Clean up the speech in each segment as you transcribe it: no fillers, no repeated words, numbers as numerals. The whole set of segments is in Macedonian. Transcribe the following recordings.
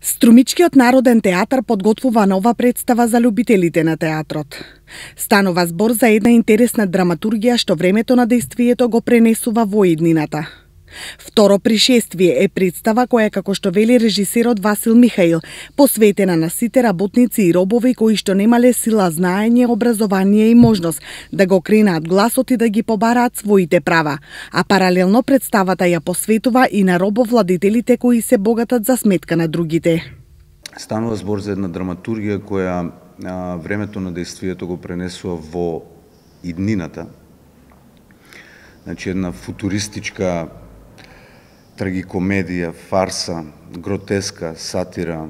Струмичкиот народен театар подготвува нова представа за љубителите на театрот. Станува збор за една интересна драматургија што времето на дејствието го пренесува во иднината. Второ пришествие е представа која, како што вели режисерот Васил Михаил, посветена на сите работници и робови кои што немале сила, знаење, образование и можност да го кренат гласот и да ги побараат своите права, а паралелно представата ја посветува и на робовладителите кои се богатат за сметка на другите. Станува збор за една драматургија која времето на дејствието го пренесува во иднината. Значи една футуристичка трагикомедија, фарса, гротеска, сатира,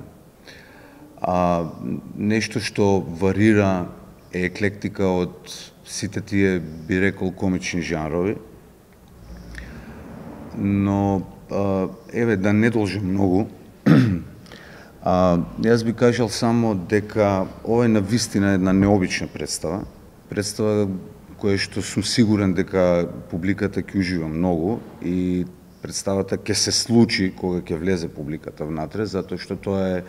нешто што варира е еклектика од сите тие, би рекол, комични жанрови. Но, еве, да не должам многу, јас би кажал само дека ова е навистина една необична представа. Представа која што сум сигурен дека публиката ќе ужива многу и представата ќе се случи кога ќе влезе публиката внатре, затоа што тоа е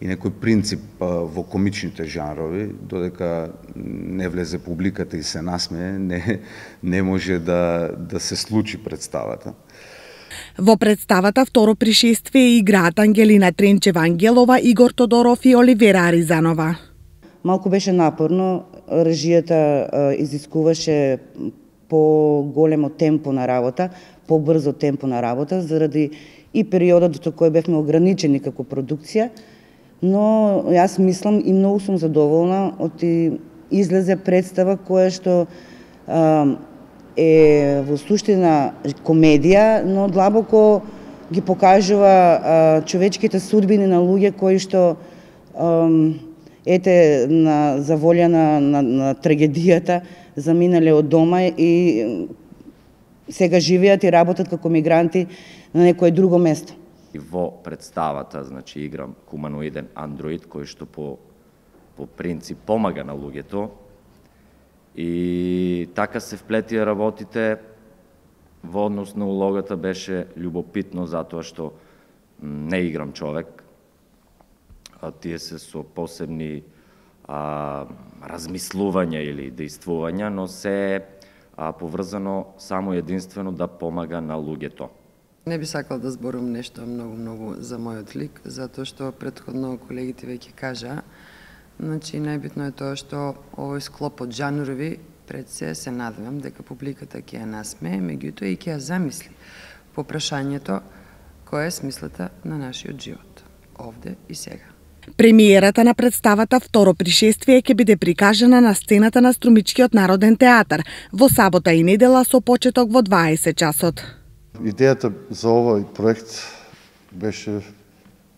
и некој принцип во комичните жанрови, додека не влезе публиката и се насмее, не може да се случи представата. Во представата Второ пришествие играат Ангелина Тренчева-Ангелова, Игор Тодоров и Оливера Аризанова. Малку беше напорно, режијата изискуваше по-големо темпо на работа, побрзо темпо на работа, заради и периодот до кој бевме ограничени како продукција, но јас мислам и многу сум задоволна од излезе представа која што е во суштина комедија, но длабоко ги покажува човечките судбини на луѓе кои што за волја на трагедијата заминале од дома и сега живеат и работат како мигранти на некое друго место. Во представата, значи, играм хуманоиден андроид кој што по принцип помага на луѓето и така се вплетија работите. Во однос на улогата беше љубопитно затоа што не играм човек, тие се со посебни размислувања или дејствувања, но се поврзано само единствено да помага на луѓето. Не би сакал да зборам нешто многу за мојот лик, затоа што претходно колегите веќе кажа. Значи, најбитно е тоа што овој склоп од жанрови пред се надевам дека публиката ќе ја насмее, меѓутоа и ќе ја замисли по прашањето која е смислата на нашиот живот, овде и сега. Премиерата на представата Второ пришествие ќе биде прикажана на сцената на Струмичкиот народен театар во сабота и недела со почеток во 20 часот. Идејата за овој проект беше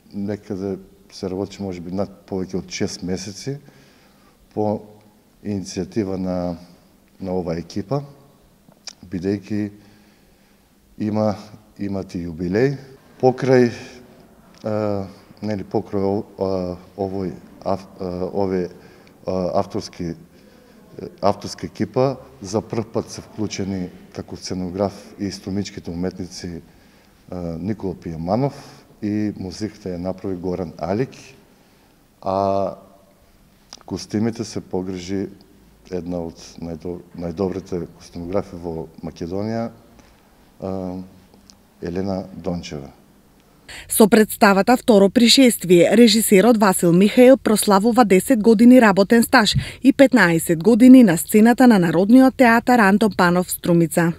некаде се работи можеби над повеќе од 6 месеци по иницијатива на оваа екипа, бидејќи имат и јубилеј покрај овој авторска екипа за прв пат се вклучени како сценограф и струмичките уметници Никола Пијаманов и музиката ја направи Горан Алик, а костимите се погрижи една од најдобрите костимографи во Македонија, Елена Дончева. Со представата Второ пришествие, режисерот Васил Михаил прославува 10 години работен стаж и 15 години на сцената на Народниот театар Антон Панов Струмица.